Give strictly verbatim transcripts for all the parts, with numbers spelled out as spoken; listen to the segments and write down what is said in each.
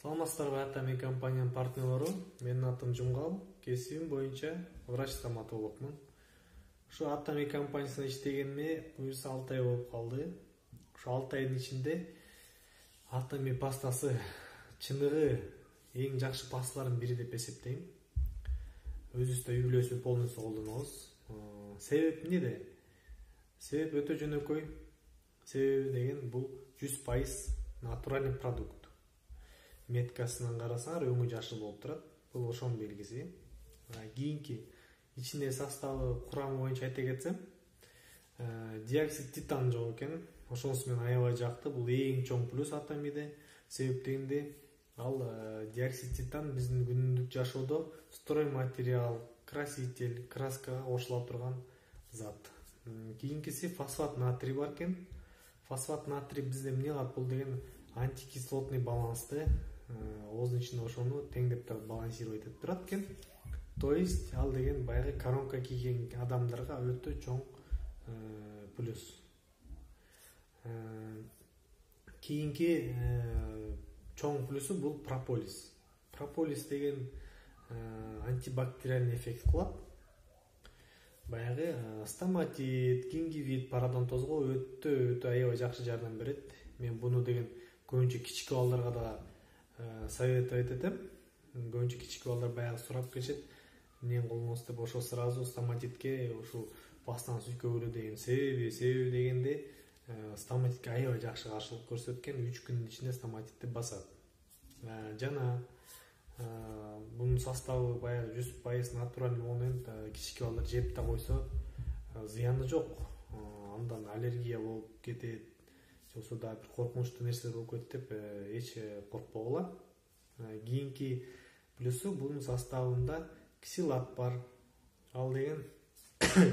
Саламатсыздарбы, Атами компаниянын партнерлору. Менин атым Жумгал, кесибим боюнча врач-стоматологмун. Ушу Атами компаниясында иштегениме буюрса алты ай болуп калды. Ушу алты айдын ичинде Атами пастасы чыныгы эң жакшы пасталардын бири деп эсептейм. Өзүбүз да үй бүлөсү полностью колдонобуз. Себеп эмнеде? Себеп өтө жөнөкөй. Себеби деген бул жүз пайыз натуральный продукт. Меткасынан карасаңар өңү жашыл болуп турат. Бул ошонун белгиси. Кийинки ичиндеги составы курамы боюнча айта кетсем, диоксид титан жок экен. Ошонусу менен аябай жакты. Бул эң чоң плюс Атамиде. Себеп дегенде ал диоксид титан биздин күнүмдүк жашоодо стройматериал, краситель, краскага кошула турган зат. Кийинкиси фосфат натрий бар экен. Фосфат натрий бизде эмне кылат? Бул деген антикислотный балансты ооздун ичинде ошону теңдеп турат, балансировать этип турат экен. То есть ал деген баягы коронка кийген адамдарга өтө чоң плюс. Кийинки чоң плюсу бул прополис. Прополис деген антибактериальный эффект кылат. Баягы стоматит, гингивит, пародонтозго өтө өтө аябай жакшы жардам берет. Мен буну деген көбүнчө кичике балдарга да советовать этем. Көбүнчө кичике балдар баягы сурап келишет, эмне колдоносуз деп, ошо сразу стоматитке ушул пастаны сүзгөгүлө деген себеби, себеби дегенде стоматитке аябай жакшы каршылык көрсөткөн, үч күндүн ичинде стоматитти басат. Жана бунун составы баягы жүз пайыз натуральный болгондон кичике балдар жеп да койсо зыяны жок. Андан аллергия болуп кетет, жоксо да бир коркунучтуу нерселер болуп кетет деп эч коркпогула. Кийинки плюсу бунун составында ксилат бар. Ал деген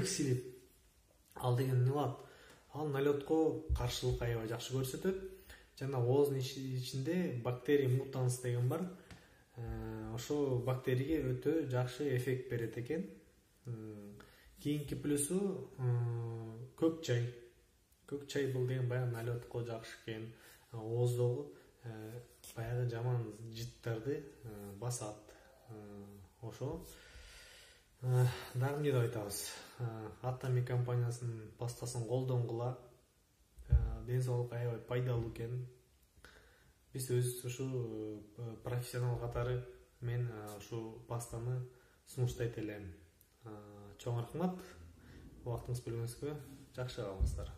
ксилит. Ал деген эмне кылат? Ал налетко каршылык аябай жакшы көрсөтөт. Жана ооздун ичинде бактерия мутанс деген бар. Ошо бактерияга өтө жакшы эффект берет экен. Кийинки плюсу көк чай. Көк чай бул деген баягы налетко жакшы экен. Ооздогу баягы жаман жыттарды басат. Ошо дагы эмне деп айтабыз? Атами компаниясынын пастасын колдонгула. Ден соолукка аябай пайдалуу экен. Биз өзүбүз ушу профессионал катары мен ушу пастаны сунуштайт элем. Чоң рахмат. Убактыңызды бөлгөнүңүзгө жакшы калыңыздар.